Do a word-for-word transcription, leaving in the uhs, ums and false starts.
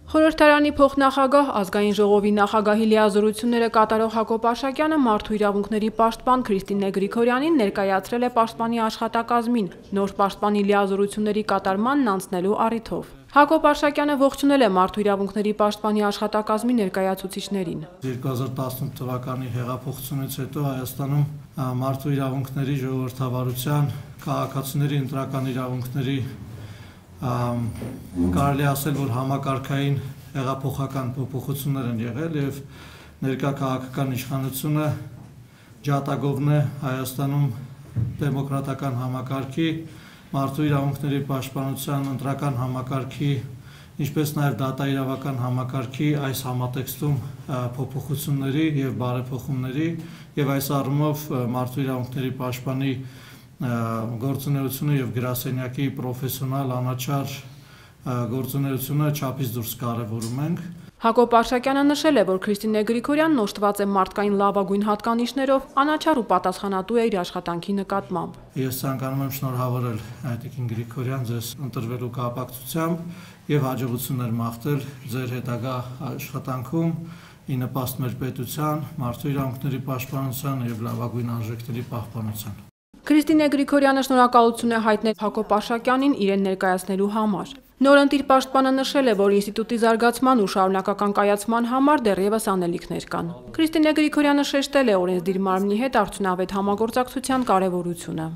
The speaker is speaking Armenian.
Խորհրդարանի փոխնախագահ, ազգային ժողովի նախագահի լիազորությունները կատարող Հակոբ Արշակյանը մարդու իրավունքների պաշտպան Քրիստինե Գրիգորյանին ներկայացրել է պաշտպանի աշխատակազմին, նոր պաշտպանի լիազորությունների կատարմանն անցնելու առիթով։ Հակոբ Արշակյանը ողջունել է մարդու իրավունքների պաշտպանի աշխատակազմի ներկայացուցիչներին։ երկու հազար տասնութ թվականի հեղափոխությունից հետո Հայաստանում մարդու իրավունքների ժողովրդավարության, քաղաքացիների ընտրական իրավունքների կարելի ասել, որ համակարգային հեղափոխական փոփոխություններ են եղել եւ ներկա քաղաքական իշխանությունը ջատագովն է Հայաստանում դեմոկրատական համակարգի, մարդու իրավունքների պաշտպանության ընտրական համակարգի, ինչպես նաեւ դատաիրավական համակարգի այս համատեքստում փոփոխությունների եւ բարեփոխումների եւ այս առումով մարդու իրավունքների պաշտպանի գործունեությունը եւ գրասենյակի պրոֆեսիոնալ անաչառ գործունեությունը չափից դուրս կարևորում ենք։ Հակոբ Արշակյանը նշել է, որ Քրիստինե Գրիգորյանն օժտված է մարդկային լավագույն հատկանիշներով, անաչառ ու պատասխանատու է իր աշխատանքի նկատմամբ։ Ես ցանկանում եմ շնորհավորել Տիկին Գրիգորյան ձեզ ընտրվելու կապակցությամբ եւ հաջողություններ մաղթել ձեր հետագա աշխատանքում ի նպաստ մեր պետության, մարդու իրավունքների պաշտպանության եւ լավագույն արժեքների պահպանության։ Քրիստինե Գրիգորյանը շնորհակալություն է հայտնել Հակոբ Արշակյանին իրեն ներկայացնելու համար։ Նորընտիր պաշտպանը նշել է, որ ինստիտուտի զարգացման ու շարունակական կայացման համար դեռևս անելիքներ կան։ Քրիստինե Գրիգորյանը շեշտել է օրենսդիր մարմնի հետ արդյունավետ համագործակցության կարևորությունը։